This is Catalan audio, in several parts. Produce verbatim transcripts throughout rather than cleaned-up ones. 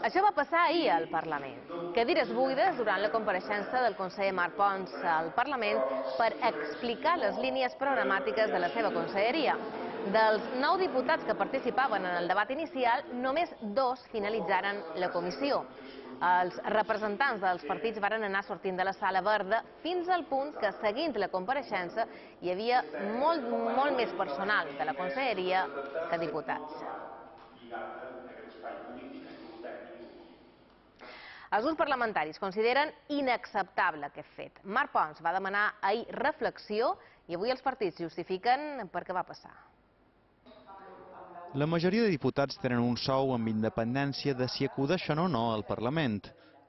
Això va passar ahir al Parlament. Cadires buides durant la compareixença del conseller Marc Pons al Parlament per explicar les línies programàtiques de la seva conselleria. Dels nou diputats que participaven en el debat inicial, només dos finalitzaren la comissió. Els representants dels partits varen anar sortint de la sala verda fins al punt que, seguint la compareixença, hi havia molt, molt més personal de la conselleria que diputats. Els grups parlamentaris consideren inacceptable aquest fet. Marc Pons va demanar ahir reflexió i avui els partits justifiquen per què va passar. La majoria de diputats tenen un sou amb independència de si acudeixen o no al Parlament.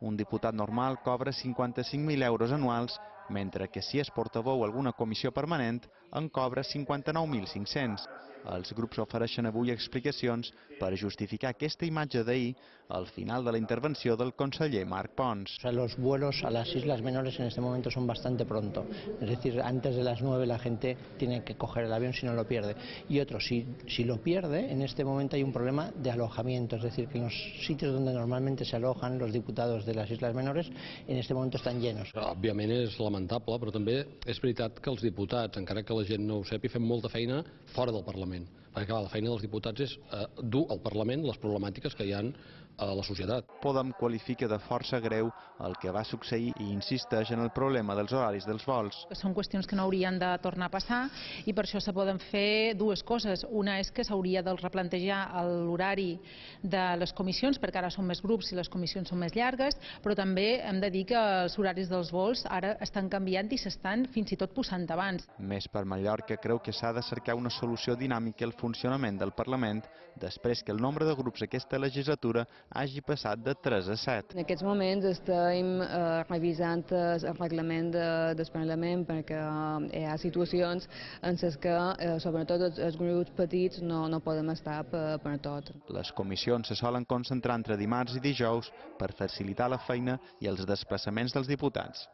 Un diputat normal cobra cinquanta-cinc mil euros anuals, mentre que si és portaveu a alguna comissió permanent en cobra cinquanta-nou mil cinc-cents. Els grups ofereixen avui explicacions per justificar aquesta imatge d'ahir al final de la intervenció del conseller Marc Pons. Los vuelos a las islas menores en este momento son bastante pronto. Es decir, antes de las nueve la gente tiene que coger el avión si no lo pierde. Y otro, si, si lo pierde, en este momento hay un problema de alojamiento. Es decir, que en los sitios donde normalmente se alojan los diputados de las islas menores, en este momento están llenos. Òbviament és lamentable, però també és veritat que els diputats, encara que la gent no ho sàpiga, fem molta feina fora del Parlament. Perquè clar, la feina dels diputats és eh, dur al Parlament les problemàtiques que hi ha a la societat. Podem qualifica de força greu el que va succeir i insisteix en el problema dels horaris dels vols. Són qüestions que no haurien de tornar a passar i per això se poden fer dues coses. Una és que s'hauria de replantejar l'horari de les comissions, perquè ara són més grups i les comissions són més llargues, però també hem de dir que els horaris dels vols ara estan canviant i s'estan fins i tot posant abans. Més per Mallorca creu que s'ha de cercar una solució dinàmica al funcionament del Parlament després que el nombre de grups aquesta legislatura hagi passat de tres a set. En aquests moments estem eh, revisant el reglament de, del Parlament perquè eh, hi ha situacions en les que, eh, sobretot els, els grups petits, no, no podem estar per, per tot. Les comissions se solen concentrar entre dimarts i dijous per facilitar la feina i els desplaçaments dels diputats.